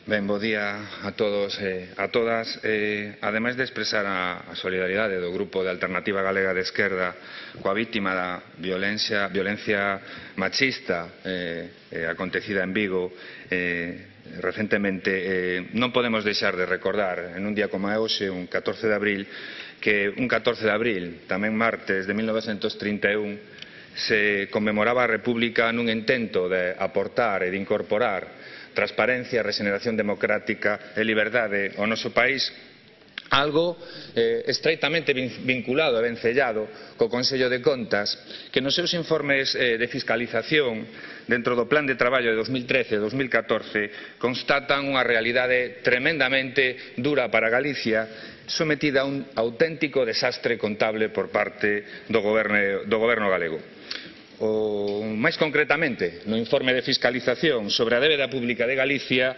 Ben, bo día a todos e a todas. Ademais de expresar a solidaridade do Grupo de Alternativa Galega de Esquerda coa vítima da violencia machista acontecida en Vigo recentemente, non podemos deixar de recordar en un día como é hoxe, un 14 de abril, que un 14 de abril, tamén martes de 1931, se conmemoraba a República nun intento de aportar e de incorporar transparencia, regeneración democrática e liberdade ao noso país, algo estreitamente vinculado e vencellado co Consello de Contas, que nos seus informes de fiscalización dentro do Plan de Traballo de 2013 e 2014 constatan unha realidade tremendamente dura para Galicia, sometida a un auténtico desastre contable por parte do goberno galego. Máis concretamente, no informe de fiscalización sobre a débeda pública de Galicia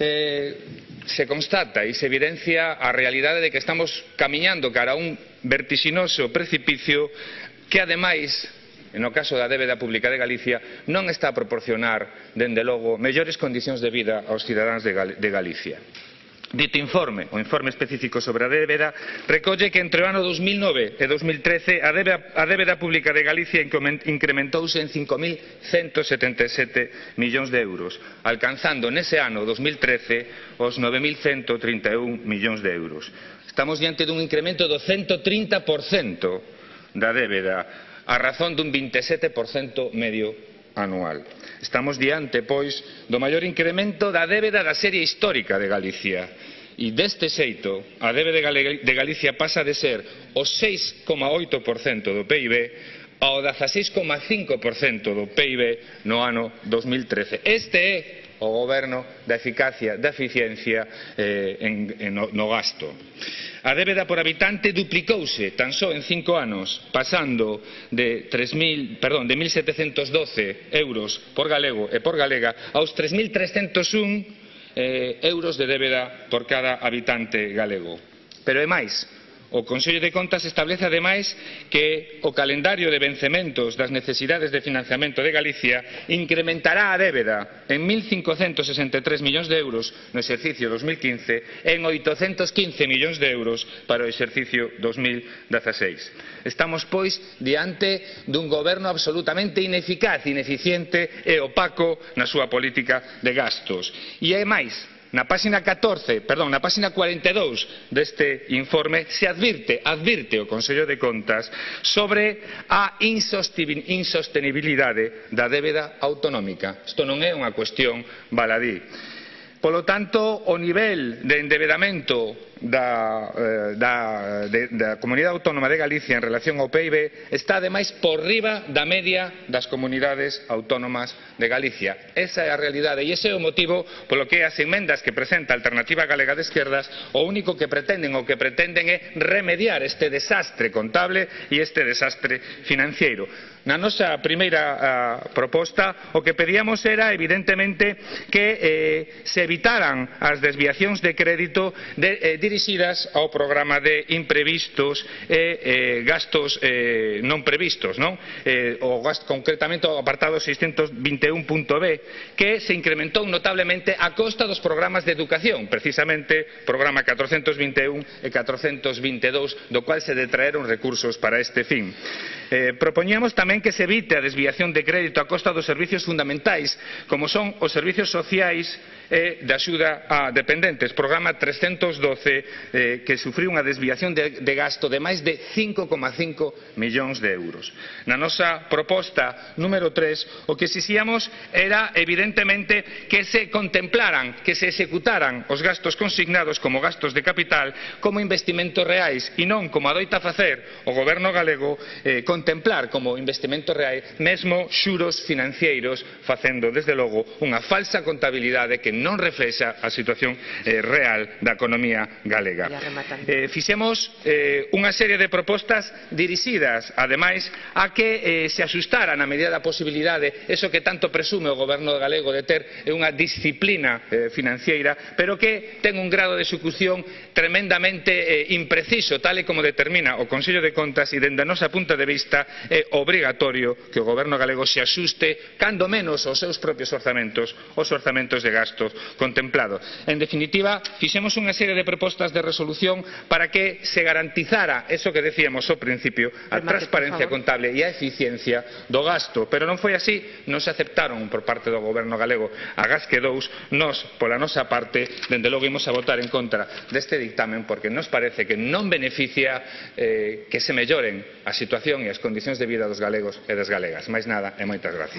se constata e se evidencia a realidade de que estamos camiñando cara a un vertixinoso precipicio que, ademais, no caso da débeda pública de Galicia, non está a proporcionar, dende logo, mellores condicións de vida aos cidadáns de Galicia. Dito informe, o informe específico sobre a débeda, recolle que entre o ano 2009 e 2013 a débeda pública de Galicia incrementouse en 5.177 millóns de euros, alcanzando nese ano 2013 os 9.131 millóns de euros. Estamos diante dun incremento do 130% da débeda, a razón dun 27% medio anual. Estamos diante, pois, do maior incremento da débeda da serie histórica de Galicia. E deste xeito, a débeda de Galicia pasa de ser o 6,8% do PIB ao 16,5% do PIB no ano 2013. Este é o goberno da eficacia, da eficiencia no gasto. A débeda por habitante duplicouse tan só en 5 anos, pasando de 1.712 euros por galego e por galega aos 3.301 euros de débeda por cada habitante galego. Pero é máis. O Consello de Contas establece, ademais, que o calendario de vencementos das necesidades de financiamento de Galicia incrementará a débeda en 1.563 millóns de euros no exercicio 2015 e en 815 millóns de euros para o exercicio 2016. Estamos, pois, diante dun goberno absolutamente ineficaz, ineficiente e opaco na súa política de gastos. E é máis. Na páxina 42 deste informe se advirte o Consello de Contas sobre a insostenibilidade da débeda autonómica. Isto non é unha cuestión baladí. Polo tanto, o nivel de endebedamento da Comunidade Autónoma de Galicia en relación ao PIB está, ademais, por riba da media das comunidades autónomas de Galicia. Esa é a realidade e ese é o motivo polo que as emendas que presenta a Alternativa Galega de Esquerdas o único que pretenden é remediar este desastre contable e este desastre financiero. Na nosa primeira proposta o que pedíamos era, evidentemente, que se evitaran as desviacións de crédito dirixidas ao programa de imprevistos e gastos non previstos, concretamente ao apartado 621.b, que se incrementou notablemente a costa dos programas de educación, precisamente programa 421 e 422, do cual se detraeron recursos para este fin. Propoñíamos tamén que se evite a desviación de crédito a costa dos servicios fundamentais, como son os servicios sociais e de axuda a dependentes, programa 312, que sufriu unha desviación de gasto de máis de 5,5 millóns de euros. Na nosa proposta número 3, o que exixíamos era, evidentemente, que se contemplaran, que se executaran os gastos consignados como gastos de capital como investimentos reais e non, como adoita facer o goberno galego, contemplar como investimentos reais mesmo xuros financeiros, facendo, desde logo, unha falsa contabilidade que non reflexa a situación real da economía galega. Fixemos unha serie de propostas dirixidas, ademais, a que se axustara na medida da posibilidade eso que tanto presume o goberno galego de ter unha disciplina financiera, pero que ten un grado de execución tremendamente impreciso, tal e como determina o Consello de Contas, e dende a nosa punto de vista vista é obrigatorio que o Goberno galego se axuste cando menos aos seus propios orzamentos, os orzamentos de gasto contemplado. En definitiva, fixemos unha serie de propostas de resolución para que se garantizara eso que decíamos ao principio, a transparencia contable e a eficiencia do gasto, pero non foi así, non se aceptaron por parte do Goberno galego agás que dous. Nós, pola nosa parte, dende logo imos a votar en contra deste dictamen porque nos parece que non beneficia que se melloren a situación e as condicións de vida dos galegos e das galegas. Máis nada e moitas gracias.